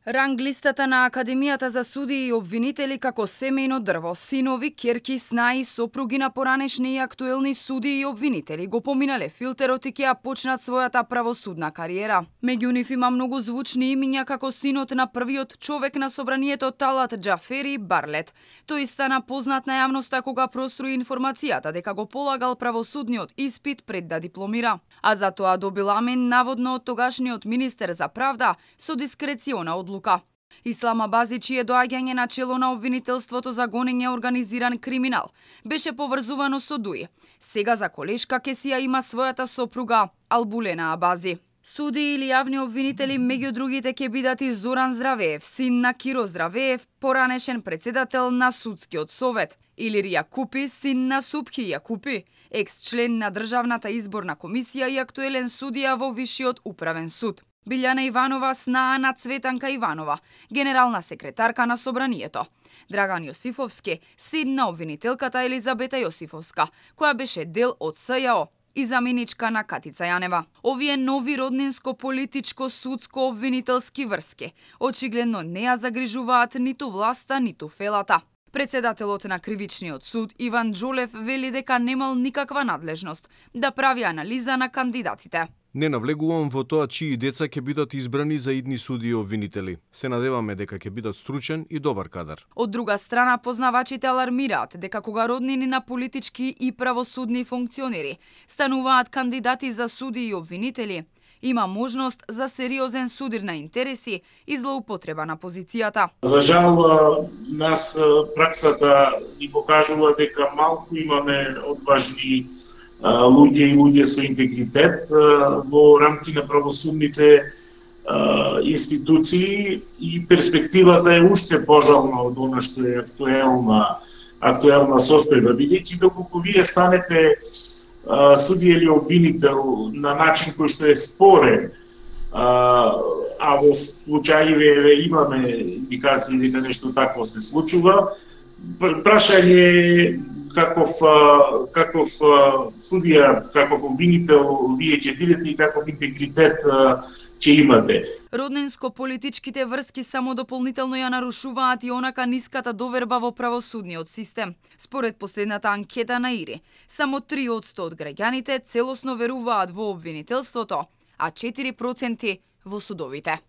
Ранг листата на Академијата за судии и обвинители како семејно дрво, синови, ќерки, снаи, сопруги на поранешни и актуелни судии и обвинители го поминале филтерот и ќе ја почнат својата правосудна кариера. Меѓу нив има многу звучни имиња како синот на првиот човек на собранието Талат Џафери Барлет. Тој стана познат на јавноста кога проструи информацијата дека го полагал правосудниот испит пред да дипломира. А за тоа добил амен наводно од тогашниот министер за правда со дискрециона одлука. Ислам Абази, чие доаѓање на чело на обвинителството за гонење организиран криминал, беше поврзувано со Дуи. Сега за колешка Кесија има својата сопруга Албулена Абази. Суди или јавни обвинители меѓу другите ќе бидат и Зоран Здравеев, син на Киро Здравеев, поранешен председател на Судскиот совет, Илир Јакупи, син на Субхи Јакупи, екс-член на Државната изборна комисија и актуелен судија во Вишиот управен суд. Билјана Иванова, снаа на Цветанка Иванова, генерална секретарка на Собранието. Драган Јосифовски, син на обвинителката Елизабета Јосифовска, која беше дел од СЈО и заменичка на Катица Јанева. Овие нови роднинско-политичко-судско-обвинителски врски очигледно не ја загрижуваат ниту власта, ниту фелата. Председателот на Кривичниот суд Иван Џолев вели дека немал никаква надлежност да прави анализа на кандидатите. Не навлегувам во тоа чии деца ќе бидат избрани за идни суди и обвинители. Се надеваме дека ќе бидат стручен и добар кадар. Од друга страна, познавачите алармираат дека кога роднини на политички и правосудни функционери стануваат кандидати за суди и обвинители, има можност за сериозен судир на интереси и злоупотреба на позицијата. За жал, нас праксата ни покажува дека малку имаме одважни луѓе и луѓе со интегритет во рамки на правосудните институции и перспективата е уште пожална од она што е актуелна состојба, бидејќи доколку вие станете судија или обвинител на начин кој што е спорен, а во случајиве имаме индикации дека нешто такво се случува, прашање каков судија, каков обвинител вие ќе бидете и каков интегритет ќе имате. Роднинско-политичките врски само дополнително ја нарушуваат и онака ниската доверба во правосудниот систем. Според последната анкета на ИРИ, само 3% од граѓаните целосно веруваат во обвинителството, а 4% во судовите.